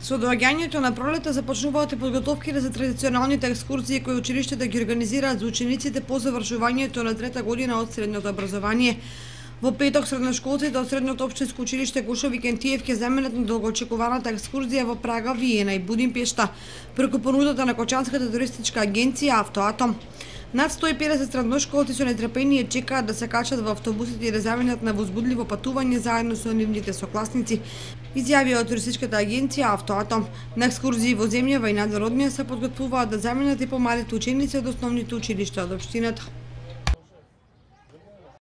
Со доаѓањето на пролета започнуваат и подготовките за традиционалните екскурзии кои училиштата ги организираат за учениците по завршувањето на трета година од средното образование. Во петок средношколците од Средното општинско училиште Гошо Викентиев ќе земенат на долгоочекуваната екскурзија во Прага, Виена и Будимпешта преку понудата на Кочанската туристичка агенција Автоатом. Над 150 средношколци со нетрпение чекаат да се качат во автобусите и да заменат на возбудливо патување заедно со нивните сокласници, изјавија од туристичката агенција Автоатом. На екскурзии во земјава и надвороднија се подготвуваат да заменат и помалите ученици од основните училишта од општината.